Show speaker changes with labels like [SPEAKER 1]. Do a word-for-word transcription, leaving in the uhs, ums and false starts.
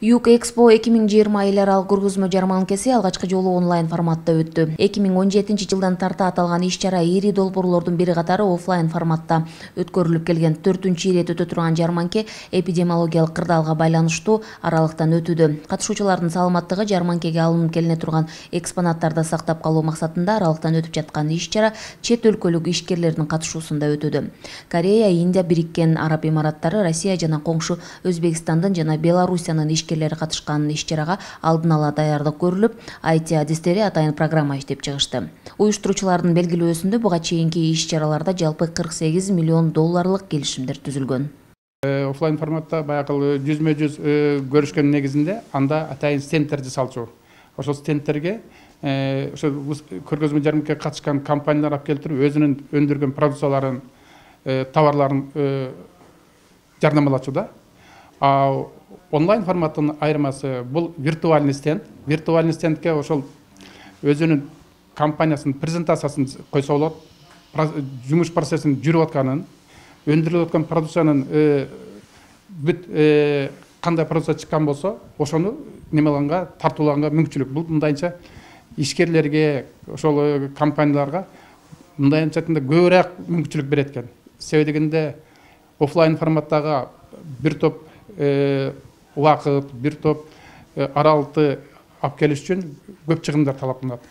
[SPEAKER 1] Юг Экспо эки миң жыйырма эл аралык көргөзмө жарманкеси алгачкы жолу онлайн форматта өттү. эки миң он жетинчи жылдан тарта аталган иш-чара ири долбоорлордун бири катары офлайн форматта өткөрүлүп келген. Төртүнчү ирет өтө турган жарманке эпидемиологиялык кырдаалга байланыштуу аралыктан өтүүдө. Катышуучулардын саламаттыгы жарманкеге алынып келине турган экспонаттарды сактап калуу максатында аралыктан өтүп жаткан иш-чара чет өлкөлүк ишкерлердин катышуусунда өтүүдө. Корея, Индия, Бириккен Араб Имараттары, Россия жана коңшу Өзбекстандын жана Белоруссиянын ишкерлери катышкан иш-чарага алдын ала даярдык көрүлүп, ай ти адистери атайын программа иштеп чыгышты. Уюштуруучулардын белгилөөсүндө буга чейинки иш-чараларда жалпы кырк сегиз миллион долларлык келишимдер түзүлгөн.
[SPEAKER 2] Офлайн форматта баягы жүзмө жүз көрүшкөн негизинде анда атайын стендтерди салчу. Ошол стендтерге ошо көргөзмө жарманкеге катышкан компаниялар алып келтирип, өзүнүн өндүргөн продукцияларын, товарларын жарнамалачу да. А онлайн форматтын айырмасы бул виртуальный стенд. Виртуальный стендке ошол өзүнүн компаниясынын презентациясын койсо болот, жумуш процессин жүрүп атканын, өндүрүлүп аткан продукциянын бүт кандай продукция чыккан болсо, ошону немеланга тартуулаганга мүмкүнчүлүк. Бул мындайча ишкерлерге, ошол компанияларга мындайча айтканда көбүрөөк мүмкүнчүлүк берет экен. Себеби дегенде офлайн форматтагы бир топ убакыт, бир топ аралыкты алып келиш үчүн көп чыгымдар талап кылынат.